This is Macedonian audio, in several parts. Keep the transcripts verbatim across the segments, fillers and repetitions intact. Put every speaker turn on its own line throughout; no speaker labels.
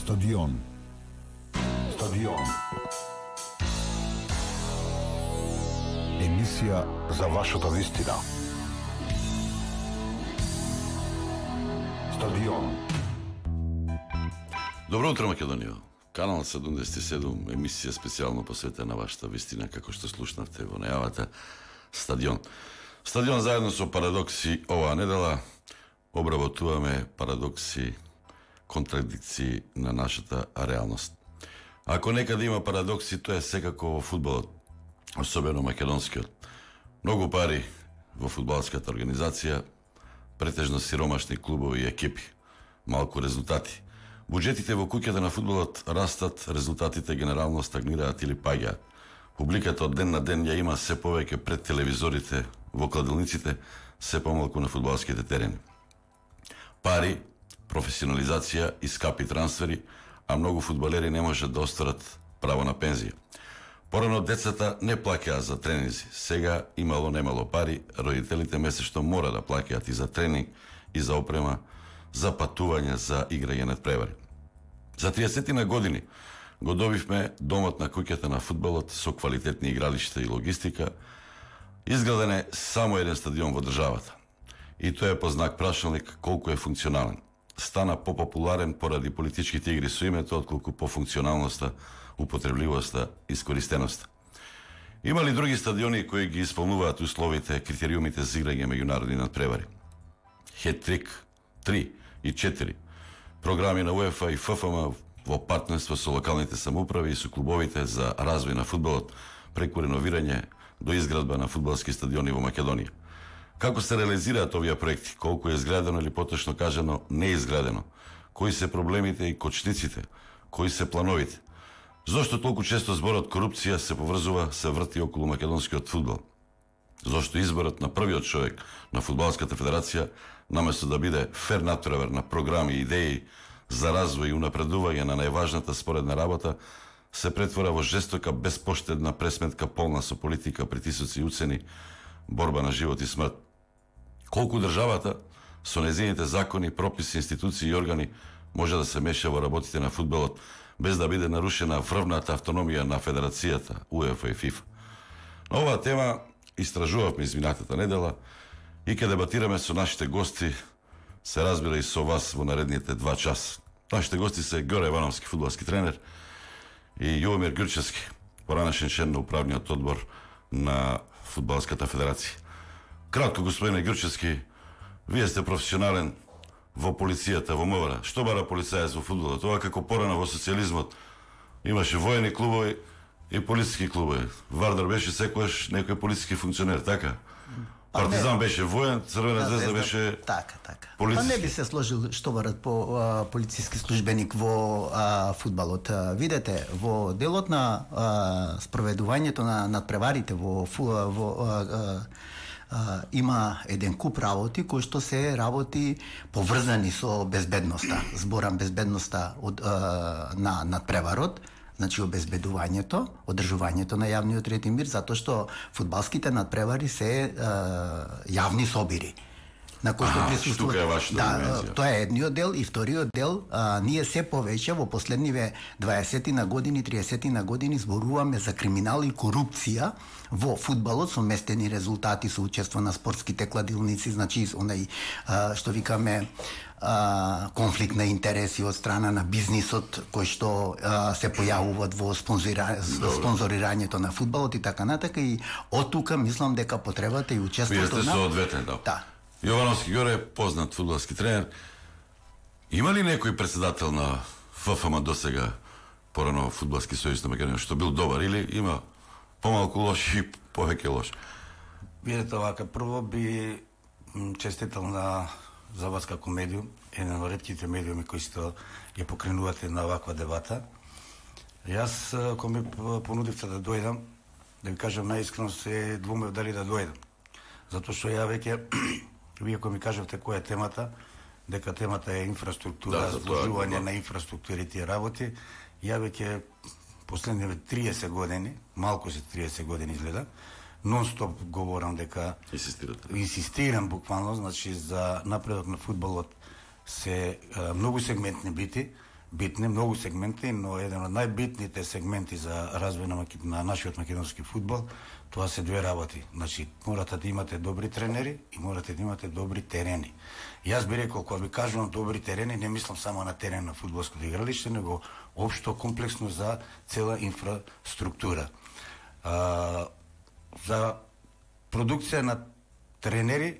Стадион. Стадион. Емисија за вашата вистина. Стадион.
Добро утро, Македонија. Канал седумдесет и седум, емисија специјално посветена на вашата вистина, како што слушнавте во најавата. Стадион. Стадион заедно со Парадокси оваа недела обработуваме парадокси, контрадикции на нашата реалност. Ако некаде има парадокси, тоа е секако во фудбалот, особено македонскиот. Многу пари во фудбалската организација, претежно сиромашни клубови и екипи, малку резултати. Буџетите во куќата на фудбалот растат, резултатите генерално стагнираат или паѓаат. Публиката од ден на ден ја има се повеќе пред телевизорите, во кладилниците, се помалку на фудбалските терени. Пари, професионализација и скапи трансфери, а многу фудбалери не можат да остварат право на пензија. Порано децата не плаќаа за тренинзи. Сега имало немало пари, родителите месечно мора да плаќаат и за тренинг, и за опрема, за патување, за играње надпревари. За триесет години го добивме домот на куќата на фудбалот со квалитетни игралишта и логистика. Изграден е само еден стадион во државата. И тоа е по знак прашалник колку е функционален. Стана попопуларен поради политичките игри со името, отколку по функционалноста, употребливоста и искористеноста. Има ли други стадиони кои ги исполнуваат условите, критериумите за играње меѓународни надпревари? Хет-трик, три и четири. Програми на УЕФА и ФФМ во партнерство со локалните самоуправи и со клубовите за развој на фудбалот, преку реновирање до изградба на фудбалски стадиони во Македонија. Како се реализираат овие проекти? Колку е изградено или поточно кажано не е изградено? Кои се проблемите и кочниците? Кои се плановите? Зошто толку често зборот корупција се поврзува, се врти околу македонскиот фудбал? Зошто изборот на првиот човек на Фудбалската федерација, наместо да биде фер натпревар на програми и идеи за развој и унапредување на најважната споредна работа, се претвора во жестока, безпоштедна пресметка полна со политика, притисоци и уцени, борба на живот и смрт. Колку државата со нејзините закони, прописи, институции и органи може да се меша во работите на фудбалот без да биде нарушена врвната автономија на Федерацијата, УЕФА и ФИФА. На оваа тема истражувавме изминатата недела и ке дебатираме со нашите гости, се разбира и со вас во наредните два часа. Нашите гости се Ѓоре Евановски, фудбалски тренер, и Јовомир Ѓурчевски, поранешен член на управниот одбор на Фудбалската федерација. Кратко, господине Ѓурчевски, вие сте професионален во полицијата, во МВР. Што бара полицаец во фудбалот? Тоа како порано во социјализмот имаше воени клубови и полициски клубови. Вардар беше секојаш некој полициски функционер, така? Партизан не беше воен, Црвена звезда беше
така, така.
полициски.
Па не би се сложил што барат по а, полициски службеник во а, фудбалот. А, видете, во делот на а, спроведувањето на надпреварите во, фу, во а, а, а, има еден куп работи кои што се работи поврзани со безбедноста. Зборам безбедноста од а, на надпреварот, значи обезбедувањето, одржувањето на јавниот ред и мир, затоа што фудбалските надпревари се е, јавни собири на кои што присуствуваат.
Тука е вашата
да,
димензија.
тоа е едниот дел и вториот дел, а, ние се повеќе во последниве дваесети на години, триесети на години зборуваме за криминал и корупција во фудбалот со местени резултати, со учество на спортските кладилници, значи онај а, што викаме а, конфликт на интереси од страна на бизнисот кој што а, се појавуваат во спонзора, спонзорирањето на фудбалот и така натака, и од тука мислам дека потребата и учеството
на... Вие сте
на...
со одветен, да.
Да.
Јовановски Ѓоре, познат фудбалски тренер. Има ли некој председател на ФФМ досега, порано Фудбалски сојуз на Македонија, што бил добар, или има помалку лош и повеќе лош?
Видете овака, прво би честитал на за вас како медиум, еден од ретките медиуми кои што ја покренувате на оваква дебата. Јас, кога ми понудивте да дојдам, да ви кажам најискрено, се двумев дали да дојдам. Затоа што ја веќе, вие кога ми кажавте која е темата, дека темата е инфраструктура,
да,
вложување
да.
на инфраструктурите и работи, ја веќе последниве триесет години, малку се триесет години изгледа, нон-стоп говорам дека
Инсистирате.
Инсистирам буквално, значи за напредок на фудбалот се а, многу сегментни бити, битни, многу сегменти, но еден од најбитните сегменти за развој на, на нашиот македонски фудбал, тоа се две работи. Значи, морате да имате добри тренери и морате да имате добри терени. Јас би рекол, кога би кажувам добри терени, не мислам само на терен на фудбалското игралиште, него општо комплексно за цела инфраструктура. А, за продукција на тренери,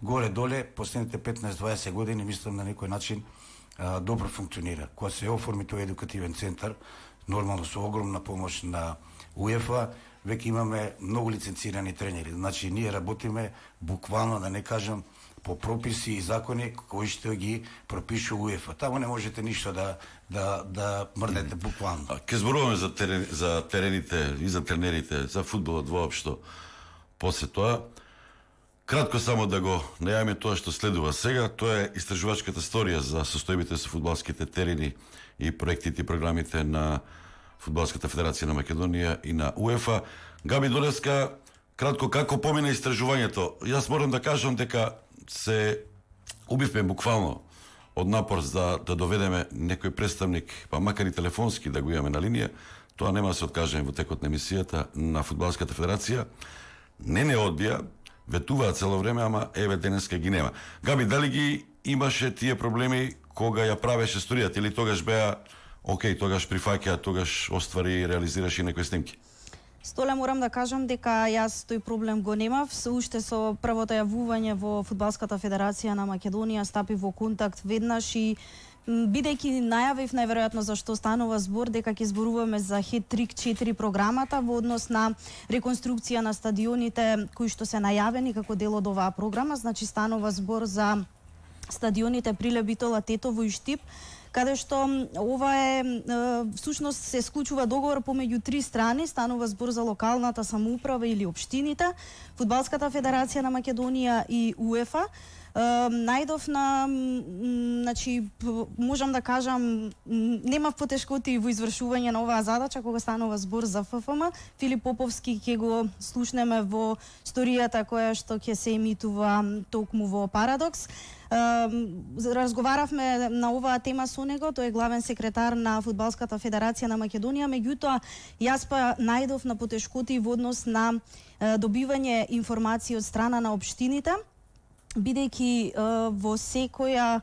горе-доле, последните петнаесет-дваесет години, мислам на некој начин а, добро функционира. Кога се оформи тој едукативен центар, нормално со огромна помош на УЕФА, веќе имаме многу лиценцирани тренери. Значи, ние работиме буквално, да не кажам, по прописи и закони кои што ги пропишу УЕФА. Таму не можете ништо да да да мрдете буквално.
Ке зборуваме за терен, за терените и за тренерите, за фудбалот воопшто. После тоа, кратко само да го најавиме тоа што следува сега, тоа е истражувачката сторија за состојбите со фудбалските терени и проектите и програмите на Фудбалската федерација на Македонија и на УЕФА. Габи Додевска, кратко како помина истражувањето? Јас морам да кажам дека се убивме буквално од напор за да доведеме некој представник, па макар и телефонски да го имаме на линија. Тоа нема да се откажеме во текот на емисијата на Фудбалската федерација. Не не одбија, ветуваа цело време, ама еве денеска ги нема. Габи, дали ги имаше тие проблеми кога ја правеше сторијата или тогаш беа окей, тогаш прифаќа, тогаш оствари и реализираше некои снимки?
Столе, морам да кажам дека јас тој проблем го немав. Уште со првото јавување во Фудбалската федерација на Македонија стапи во контакт веднаш и бидејќи најавив најверојатно зашто станува збор дека ќе зборуваме за Хет-трик четири програмата во однос на реконструкција на стадионите кои што се најавени како дел од оваа програма, значи станува збор за стадионите Прилеп, Битола, Тетово и Штип, каде што ова е, всушност се склучува договор помеѓу три страни, станува збор за локалната самоуправа или општините, Фудбалската федерација на Македонија и УЕФА. Најдов на, значи, можам да кажам, немав потешкоти во извршување на оваа задача кога станува збор за ФФМ. Филип Поповски ќе го слушнеме во сторијата која што ќе се емитува токму во Парадокс. Разговаравме на оваа тема со него, тој е главен секретар на Фудбалската федерација на Македонија, меѓутоа јас па најдов на потешкоти во однос на добивање информации од страна на општините, бидејќи во секоја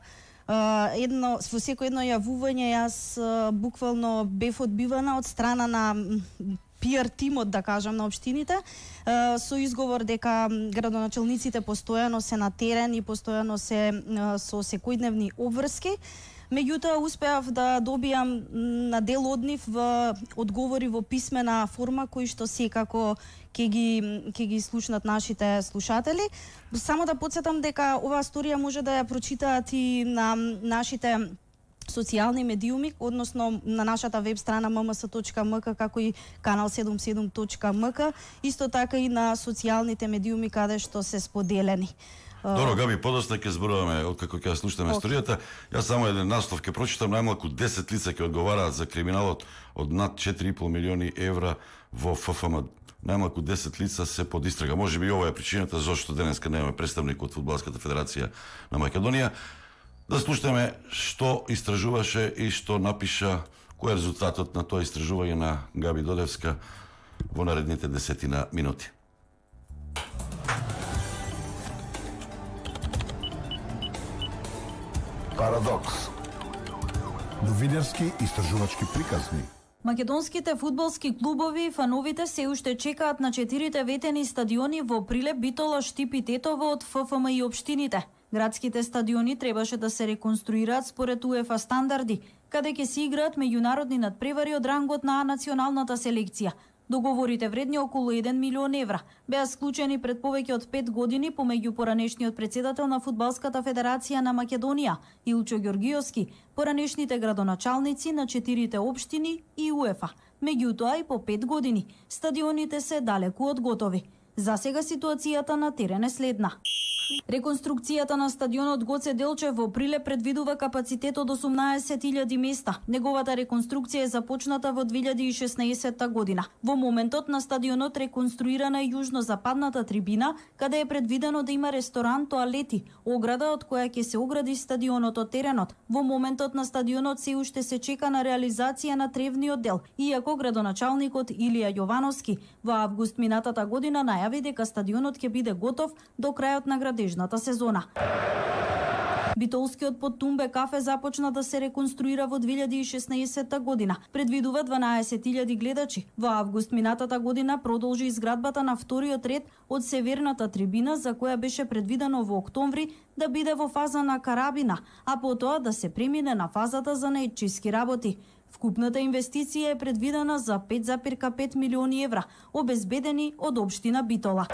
едно во секој едно јавување јас буквално бев одбивана од страна на пиар тимот, да кажам, на општините, со изговор дека градоначалниците постојано се на терен и постојано се со секојдневни обврски. Меѓутоа, успеав да добијам на дел од нив одговори во писмена форма, кои што секако ќе ги, ќе ги слушнат нашите слушатели. Само да подсетам дека оваа сторија може да ја прочитаат и на нашите социјални медиуми, односно на нашата веб страна ем ем ес точка ем ка, како и канал седумдесет и седум точка ем ка, исто така и на социјалните медиуми каде што се споделени.
Добро, Габи, подоста ќе зборуваме откако ќе слушаме okay. историјата. Јас само еден наслов ќе прочитам. Најмалку десет лица ќе одговараат за криминалот од над четири и пол милиони евра во ФФМ. Најмалку десет лица се под истрага. Може би ова е причината зашто денеска немаме представник од Фудбалската федерација на Македонија. Да слушаме што истражуваше и што напиша, кој е резултатот на тоа истражување на Габи Додевска во наредните десетина минути.
Парадокс. Новинарски истражувачки приказни.
Македонските фудбалски клубови и фановите се уште чекаат на четирите ветени стадиони во Прилеп, Битола, Штип и Тетово од ФФМ и општините. Градските стадиони требаше да се реконструираат според УЕФА стандарди, каде ќе се играат меѓународни надпревари од рангот на националната селекција. Договорите вредни околу еден милион евра беа склучени пред повеќе од пет години помеѓу поранешниот претседател на Фудбалската федерација на Македонија Илчо Ѓоргиовски, поранешните градоначалници на четирите општини и УЕФА. Меѓутоа и по пет години стадионите се далеку од готови. За сега ситуацијата на терен е следна. Реконструкцијата на стадионот Гоце Делчев во Прилеп предвидува капацитет од осумнаесет илјади места. Неговата реконструкција е започната во две илјади и шеснаесетта година. Во моментот на стадионот реконструирана е јужно-западната трибина, каде е предвидено да има ресторан, тоалети, ограда од која ќе се огради стадионот од теренот. Во моментот на стадионот се уште се чека на реализација на тревниот дел, иако градоначалникот Илија Јовановски во август минатата година најави дека стадионот ќе биде готов до крајот на градежната сезона. Битолскиот Подтумбе кафе започна да се реконструира во две илјади и шеснаесетта година. Предвидува дванаесет илјади гледачи. Во август минатата година продолжи изградбата на вториот ред од северната трибина, за која беше предвидено во октомври да биде во фаза на карабина, а потоа да се премине на фазата за наетчиски работи. Вкупната инвестиција е предвидена за пет зарез пет милиони евра, обезбедени од општина Битола.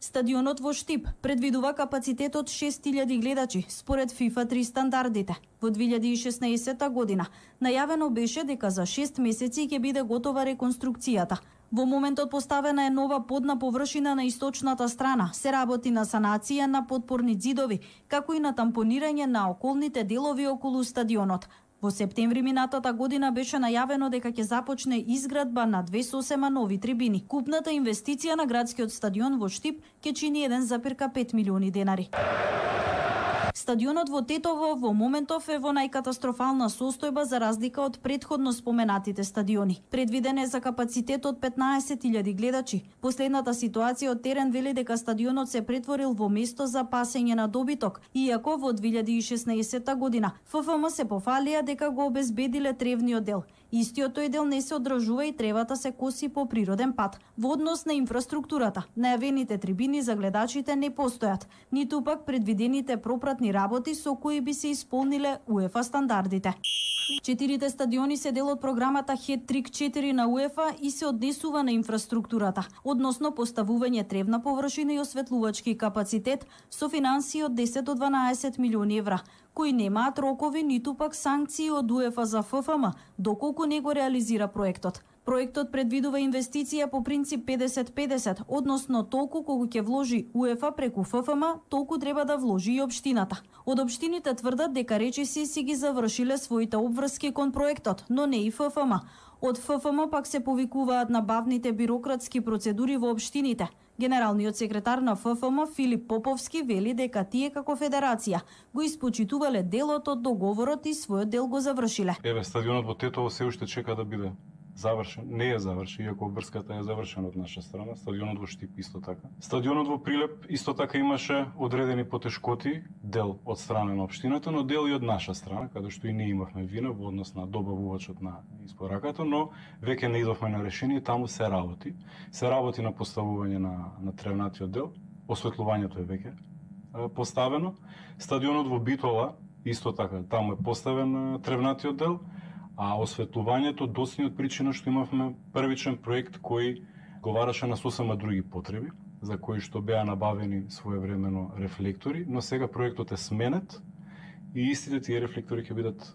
Стадионот во Штип предвидува капацитет од шест илјади гледачи според ФИФА три стандардите. Во две илјади и шеснаесетта година најавено беше дека за шест месеци ќе биде готова реконструкцијата. Во моментот поставена е нова подна површина на источната страна, се работи на санација на подпорни ѕидови, како и на тампонирање на околните делови околу стадионот. Во септември минатата година беше најавено дека ќе започне изградба на две сосема нови трибини. Купната инвестиција на градскиот стадион во Штип ќе чини еден зарез пет милиони денари. Стадионот во Тетово во моментов е во најкатастрофална состојба за разлика од претходно споменатите стадиони. Предвиден е за капацитет од петнаесет илјади гледачи. Последната ситуација од терен вели дека стадионот се претворил во место за пасење на добиток, иако во две илјади и шеснаесетта година ФФМ се пофалија дека го обезбедиле тревниот дел. Истиот тој дел не се одржува и тревата се коси по природен пат. Во однос на инфраструктурата, најавените трибини за гледачите не постојат, ниту пак предвидените пропратни работи со кои би се исполниле УЕФА стандардите. Четирите стадиони се дел од програмата Хет-трик четири на УЕФА и се однесува на инфраструктурата, односно поставување тревна површина и осветлувачки капацитет со финансии од десет до дванаесет милиони евра, кои немаат рокови ниту пак санкции од УЕФА за ФФМ, доколку не го реализира проектот. Проектот предвидува инвестиција по принцип педесет педесет, односно толку колку ќе вложи УЕФА преку ФФМ, толку треба да вложи и општината. Од општините тврдат дека речиси си ги завршиле своите обврски кон проектот, но не и ФФМ. Од ФФМ пак се повикуваат на бавните бирократски процедури во општините. Генералниот секретар на ФФМ Филип Поповски вели дека тие како федерација го испочитувале делот од договорот и својот дел го завршиле.
Еве, стадионот во Тетово се уште чека да биде завршен. Не е завршен, иако обврската е завршена од наша страна. Стадионот во Штип исто така. Стадионот во Прилеп исто така имаше одредени потешкоти, дел од страна на општината, но дел и од наша страна, каде што и ние имавме вина во однос на добавувачот на испораката, но веќе не идовме на решение, таму се работи. Се работи на поставување на, на тревнатиот дел, осветлувањето е веќе поставено. Стадионот во Битола исто така, таму е поставен тревнатиот дел, а осветлувањето доцни од причина што имавме првичен проект кој говараше на сосема други потреби, за кои што беа набавени своевремено рефлектори, но сега проектот е сменет и истите тие рефлектори ќе бидат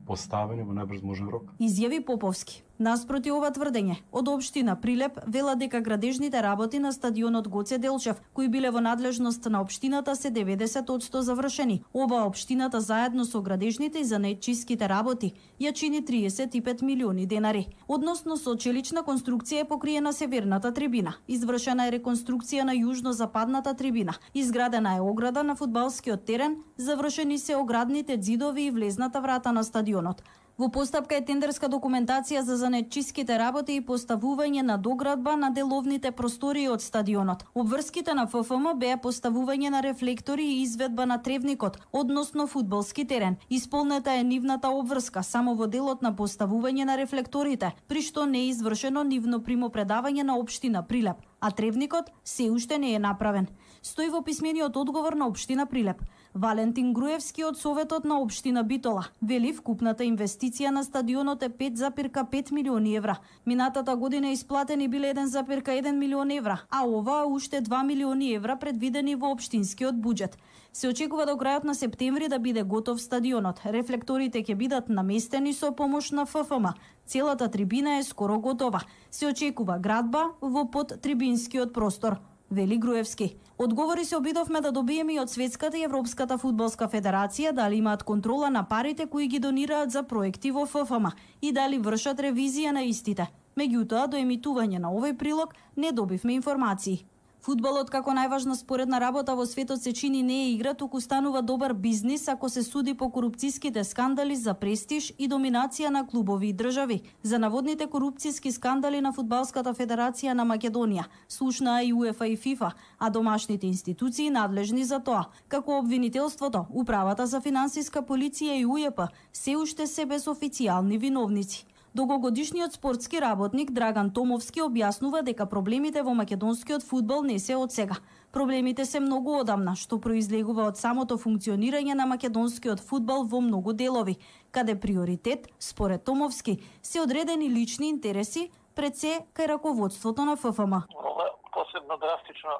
поставени во најбрз можен рок.
Изјави Поповски. Наспроти ова тврдење, од општина Прилеп вела дека градежните работи на стадионот Гоце Делчев, кои биле во надлежност на општината, се деветдесет одсто завршени. Ова општината заедно со градежните и занаетчиските работи ја чини триесет и пет милиони денари. Односно со челична конструкција е покриена северната трибина. Извршена е реконструкција на јужно-западната трибина. Изградена е ограда на фудбалскиот терен, завршени се оградните ѕидови и влезната врата на стадионот. Во постапка е тендерска документација за занаетчиските работи и поставување на доградба на деловните простории од стадионот. Обврските на ФФМ беа поставување на рефлектори и изведба на тревникот, односно фудбалски терен. Исполнета е нивната обврска само во делот на поставување на рефлекторите, при што не е извршено нивно примопредавање на општина Прилеп, а тревникот се уште не е направен. Стои во писмениот одговор на општина Прилеп. Валентин Груевски од Советот на општина Битола вели вкупната инвестиција на стадионот е пет зарез пет милиони евра. Минатата година исплатени биле еден зарез еден милион евра, а ова уште два милиони евра предвидени во општинскиот буџет. Се очекува до крајот на септември да биде готов стадионот. Рефлекторите ќе бидат наместени со помош на ФФМ. Целата трибина е скоро готова. Се очекува градба во подтрибинскиот простор. вели Груевски. Одговори се обидовме да добиеме и од Светската и Европската фудбалска федерација дали имаат контрола на парите кои ги донираат за проекти во ФФМ и дали вршат ревизија на истите. Меѓутоа, до емитување на овој прилог не добивме информации. Фудбалот како најважна споредна работа во светот се чини не е игра, туку станува добар бизнис ако се суди по корупцијските скандали за престиж и доминација на клубови и држави. За наводните корупцијски скандали на Фудбалската федерација на Македонија слушнаа и УЕФА и ФИФА, а домашните институции надлежни за тоа, како обвинителството, Управата за финансиска полиција и УЈП, се уште се без официјални виновници. Долгогодишниот спортски работник Драган Томовски објаснува дека проблемите во македонскиот фудбал не се од сега. Проблемите се многу одамна, што произлегува од самото функционирање на македонскиот фудбал во многу делови, каде приоритет, според Томовски, се одредени лични интереси пред се кај раководството на ФФМ.
Ова посебно драстично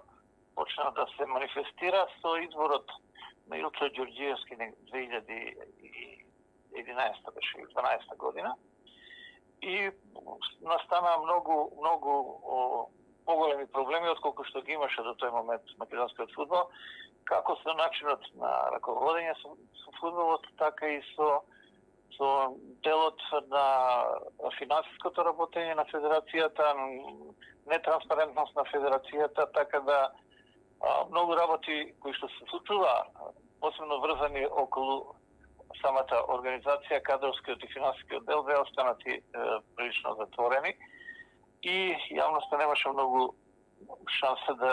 почна да се манифестира со изборот на Илчо Ѓорѓиевски две илјади и единаесета беше или дванаесета година. И настана многу многу о, поголеми проблеми отколку што ги имаше до тој момент македонскиот фудбал, како со начинот на раководење со, со фудбалот, така и со со делот на финансиското работење на федерацијата, нетранспарентност на федерацијата, така да а, многу работи кои што се случува, посебно врзани околу самата организација, кадровскиот и финансискиот дел беа останати е, прилично затворени и јавноста немаше многу шанса да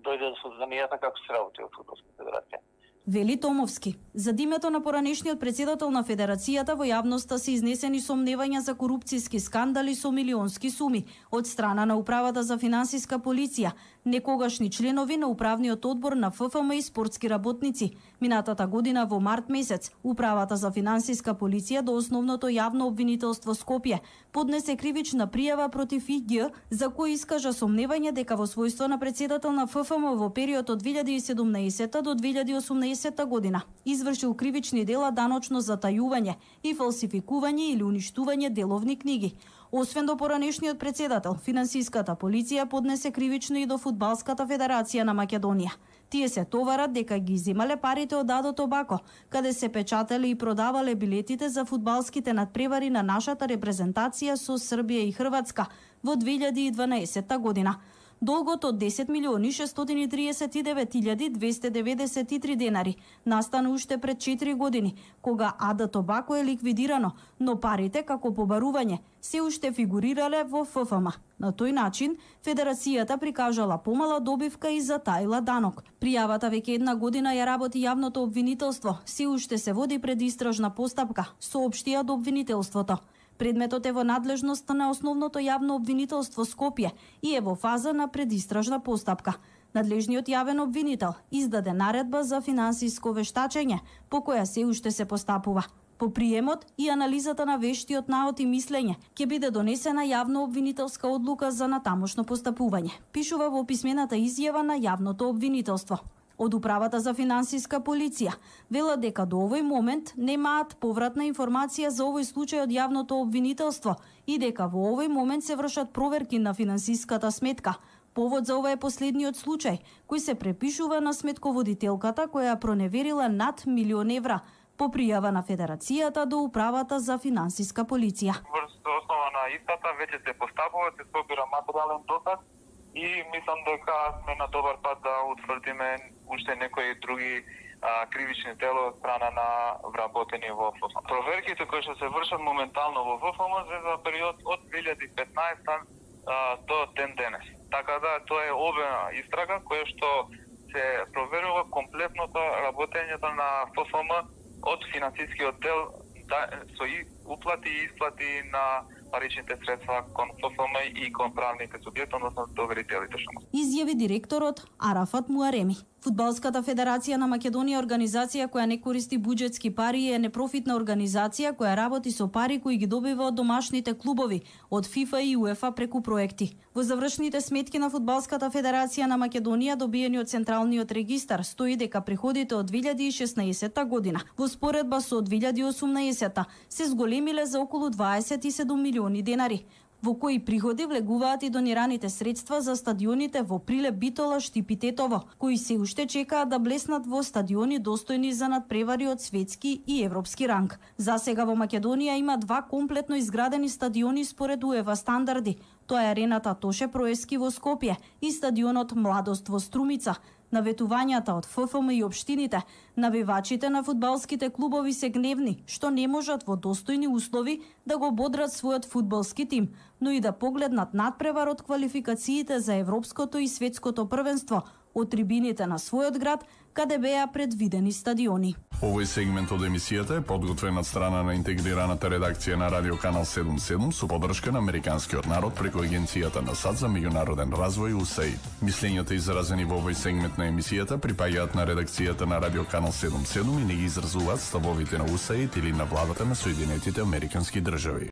дојде до сознанијата како се работи во Фудбалска федерација.
Вели Томовски. За името на поранешниот председател на федерацијата во јавноста се изнесени сомневања за корупцијски скандали со милионски суми од страна на Управата за финансиска полиција, некогашни членови на управниот одбор на ФФМ и спортски работници. Минатата година во март месец Управата за финансиска полиција до основното јавно обвинителство Скопје поднесе кривична пријава против ИГ за кој искажа сомневање дека во својство на председател на ФФМ во период од две илјади и седумнаесета до две илјади и осумнаесета година извршил кривични дела даночно затајување и фалсификување или уништување деловни книги. Освен до поранешниот председател, финансиската полиција поднесе кривично и до Фудбалската федерација на Македонија. Тие се товарат дека ги земале парите од Адо Тобако, каде се печателе и продавале билетите за фудбалските надпревари на нашата репрезентација со Србија и Хрватска во две илјади и дванаесета година. Долгот од десет милиони шестстотини и триесет и девет илјади двесте деветдесет и три денари настана уште пред четири години, кога Адо Тобако е ликвидирано, но парите како побарување се уште фигурирале во ФФМ. На тој начин, федерацијата прикажала помала добивка и затаила данок. Пријавата веќе една година ја работи јавното обвинителство, се уште се води предистражна постапка, соопштија до обвинителството. Предметот е во надлежност на основното јавно обвинителство Скопје и е во фаза на предистражна постапка. Надлежниот јавен обвинител издаде наредба за финансиско вештачење, по која се уште се постапува. По приемот и анализата на вештиот наод и мислење ќе биде донесена јавно обвинителска одлука за натамошно постапување, пишува во писмената изјава на јавното обвинителство. Од Управата за финансиска полиција велат дека до овој момент немаат повратна информација за овој случај од јавното обвинителство и дека во овој момент се вршат проверки на финансиската сметка. Повод за ова е последниот случај, кој се препишува на сметководителката која проневерила над милион евра по пријава на Федерацијата до Управата за финансиска полиција.
Врз основа на истата веќе се постапува, се собира материјален доказ и мислам дека сме на добар пат да утврдиме уште некои други а, кривични дела од страна на вработени во ФФМ. Проверките кои што се вршат моментално во ФФМ се за период од две илјади и петнаесета а, до ден денес. Така да тоа е обема истрага која што се проверува комплетното работењето на ФФМ од финансискиот дел да, со и уплати и исплати на паричните средства кон ФФМ и кон правните субјекти, односно доверителите што.
Изјави директорот Арафат Муареми. Фудбалската федерација на Македонија е организација која не користи буџетски пари и е непрофитна организација која работи со пари кои ги добива од домашните клубови, од ФИФА и УЕФА преку проекти. Во завршните сметки на Фудбалската федерација на Македонија добиени од Централниот регистар стои дека приходите од две илјади и шеснаесета година во споредба со две илјади и осумнаесета се зголемиле за околу дваесет и седум милиони денари. во кои приходи влегуваат и донираните средства за стадионите во Прилеп, Битола, Штип и Тетово, кои се уште чекаат да блеснат во стадиони достојни за надпревари од светски и европски ранг. За сега во Македонија има два комплетно изградени стадиони според УЕФА стандарди. Тоа е арената Тоше Проески во Скопје и стадионот Младост во Струмица. Наветувањата од ФФМ и општините, навивачите на фудбалските клубови се гневни, што не можат во достојни услови да го бодрат својот фудбалски тим, но и да погледнат надпревар од квалификациите за европското и светското првенство од трибините на својот град, каде беа предвидени стадиони.
Овој сегмент од емисијата е подготвен од страна на интегрираната редакција на Радио Канал седумдесет и седум со поддршка на Американскиот народ преку Агенцијата на САД за меѓународен развој УСАИД. Мислењата изразени во овој сегмент на емисијата припаѓаат на редакцијата на Радио Канал седумдесет и седум и не ги изразуваат ставовите на УСАИД или на владата на Соединетите Американски држави.